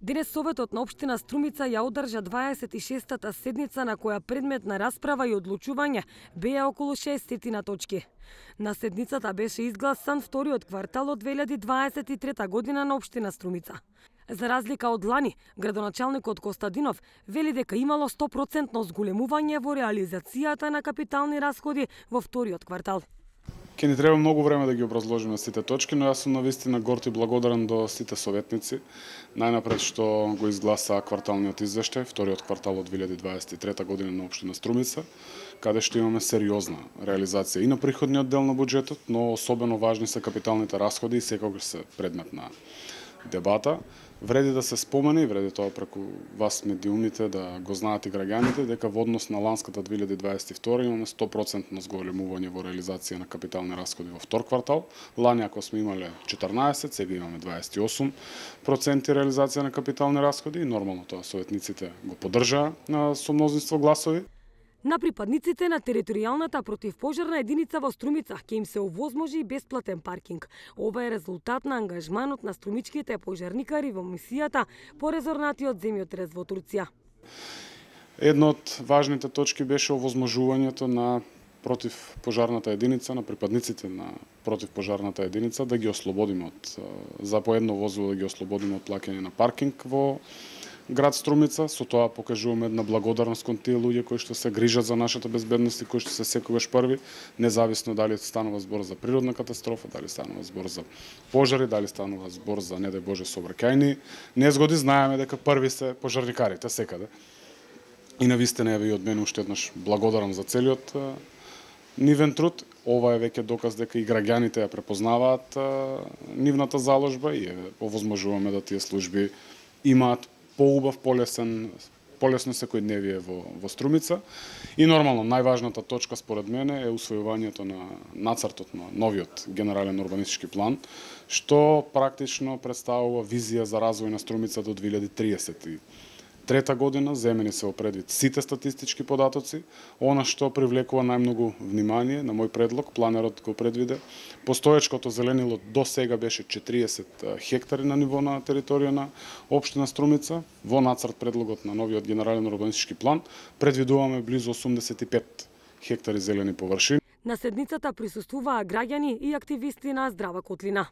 Денес Советот на општина Струмица ја одржа 26-та седница на која предмет на расправа и одлучување беа околу 60 точки. На седницата беше изгласан вториот квартал од 2023 година на општина Струмица. За разлика од лани, градоначалникот Костадинов вели дека имало 100% зголемување во реализацијата на капитални расходи во вториот квартал. Ке ни треба многу време да ги образложиме сите точки, но јас сум навистина горд и благодарен до сите советници. Најнапред што го изгласа кварталниот извештај, вториот квартал од 2023 година на општина Струмица, каде што имаме сериозна реализација и на приходниот дел на буџетот, но особено важни се капиталните расходи и секогаш се предмет на дебата. Вреди да се спомене и вреди тоа преку вас медиумите да го знаат и граѓаните дека во однос на ланската 2022 имаме 100% зголемување во реализација на капитални расходи во втор квартал. Лани ако сме имале 14, сега имаме 28% реализација на капитални расходи и нормално тоа советниците го поддржаа со мнозинство гласови. На припадниците на територијалната противпожарна единица во Струмица ќе им се овозможи бесплатен паркинг. Ова е резултат на ангажманот на струмичките пожарникари во мисијата по резорнатиот земјотрес во Турција. Една од важните точки беше овозможувањето на противпожарната единица, на припадниците на противпожарната единица да ги ослободиме од за по едно возило да ги ослободиме од плаќање на паркинг во град Струмица. Со тоа покажуваме една благодарност кон тие луѓе кои што се грижат за нашата безбедност и кои што се секогаш први, независно дали станува збор за природна катастрофа, дали станува збор за пожари, дали станува збор за не дај Боже сообраќајни незгоди, знаеме дека први се пожарникарите секаде. И навистина еве и од мене уште еднаш благодарам за целиот нивен труд. Ова е веќе доказ дека и граѓаните ја препознаваат нивната заложба и овозможуваме да тие служби имаат поубав, полесно секојдневие во Струмица. И нормално, најважната точка според мене е усвојувањето на нацртот на новиот генерален урбанистички план, што практично представува визија за развој на Струмица до 2033 година. Земени се во предвид сите статистички податоци. Она што привлекува најмногу внимание, на мој предлог, планерот го предвиде. Постоечкото зеленило до сега беше 40 хектари на ниво на територија на општина Струмица. Во нацрт предлогот на новиот генерален урбанистички план предвидуваме близу 85 хектари зелени површини. На седницата присуствуваа граѓани и активисти на Здрава Котлина.